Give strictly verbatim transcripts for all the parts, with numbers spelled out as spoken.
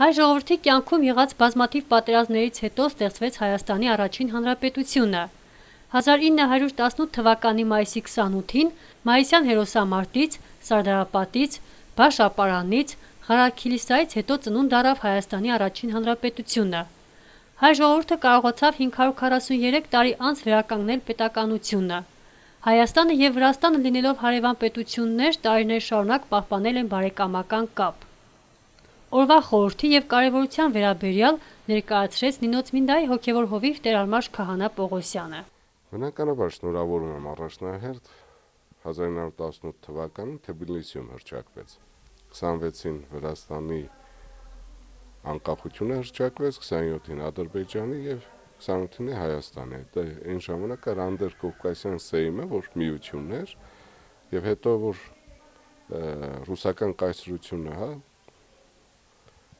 Հայ ժողովրդի կյանքում եղած բազմաթիվ պատերազմներից հետո ստեղծվեց Հայաստանի առաջին հանրապետությունը։ հազար ինը հարյուր տասնութ թվականի մայիսի քսանութին Մայիսյան հերոսամարտից, Սարդարապատից, Բաշ-ապարանից, Ղարաքիլիսայից հետո ծնունդ առավ Հայաստանի առաջին հանրապետությունը։ Հայ ժողովուրդը կարողացավ հինգ հարյուր քառասուներեք տարի անց վերականգնել պետականությունը։ Հայաստանը և Վրաստանը լինելով հարևան պետություններ, տարիներ շարունակ պահպանել են բարեկամական կապ։ Օրվա խորհրդի և կարևորության վերաբերյալ ներկայացրեց Նինոწმინდայի հոգևոր հովիվ տեր-Արմաշ քահանա Պողոսյանը։ Բնականաբար շնորհավորում եմ առաջնահերթ հազար ինը հարյուր տասնութ թվականին Թբիլիսիում հռչակվեց, քսանվեցին Վրաստանի անկախությունը հռչակվեց, քսանյոթին Ադրբեջանի և քսանութին Հայաստանի։ Դա այն ժամանակ էր Անդրկովկասյան Սեյմը, որ միությունն էր, եւ հետո որ ռուսական կայսրությունը, հա,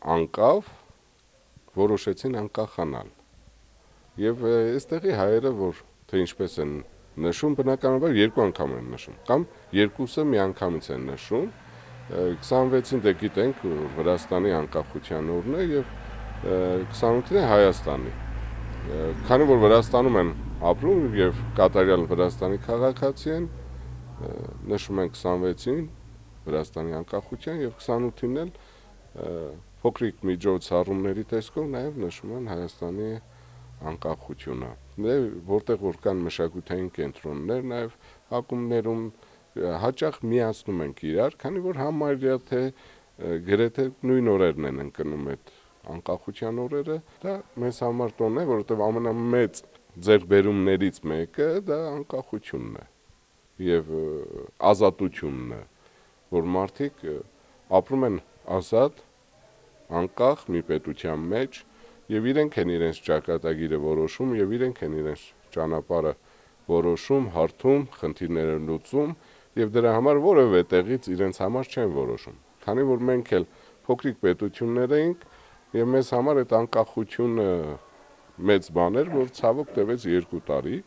անկավ, որոշեցին անկախանալ։ Եվ այստեղի հայերը, որ թե ինչպես են նշում, բնականաբար երկու անգամ են նշում, կամ երկուսը միանգամից են նշում։ քսանվեցին դե գիտենք, որ Վրաստանի անկախության օրն է եւ քսանութին Հայաստանի։ Քանի որ Վրաստանում են ապրում եւ կատարյալ Վրաստանի քաղաքացի են, նշում են քսանվեցին Վրաստանի անկախության եւ քսանութին էլ փոքրիկ միջոցառումների տեսքով նաեւ նշում են Հայաստանի անկախությունը։ Որտեղ որ կան մշակութային կենտրոններ, նաեւ ակումբներում հաճախ միացնում ենք իրար, քանի որ համարյա թե գրեթե նույն օրերն են ընկնում այդ անկախության օրերը, դա մեզ համար տոն է, որովհետեւ ամենամեծ ձեռքբերումներից մեկը դա անկախությունն է եւ ազատությունն է, որ մարդիկ ապրում են ազատ, անկախ մի պետության մեջ եւ իրենք են իրենց ճակատագիրը որոշում եւ իրենք են իրենց ճանապարհը որոշում, հարթում, խնդիրները լուծում եւ դրա համար որևէ տեղից իրենց համար չեն որոշում։ Քանի որ մենք էլ փոքրիկ պետություններ էինք եւ մեզ համար այդ անկախությունը մեծ բան էր, որ ցավոք տևեց երկու տարի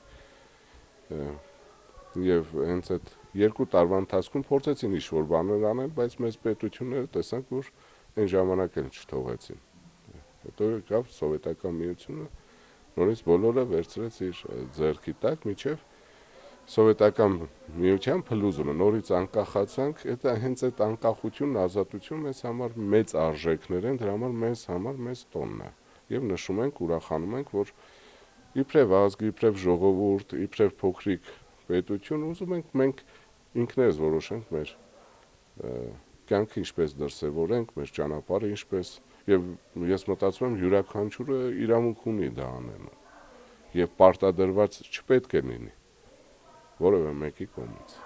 եւ հենց այդ երկու տարվա ընթացքում փորձեցին ինչ-որ բաներ անել, բայց մեծ պետությունները տեսանք, որ այն ժամանակ էլ չթողեցին։ Հետո եկավ սովետական միությունը, նորից բոլորը վերցրեց իր ձեռքի տակ, միջև սովետական միության փլուզումը, նորից անկախացանք, դա հենց այդ անկախությունն, ազատությունն մեզ համար մեծ արժեքներ են, դրա համար մեզ համար մեծ տոնն է։ Եվ նշում ենք, ուրախանում ենք, որ իբրև ազգ, իբրև ժողովուրդ, իբրև փոքրիկ պետություն ուզում ենք մենք ինքներս որոշենք մեր կյանքը ինչպես դրսևորենք, մեր ճանապարհը ինչպես, եւ ես մտածում եմ յուրաքանչյուրը իրավունք ունի դա անելու եւ պարտադրված չպետք է լինի որևէ մեկի կողմից։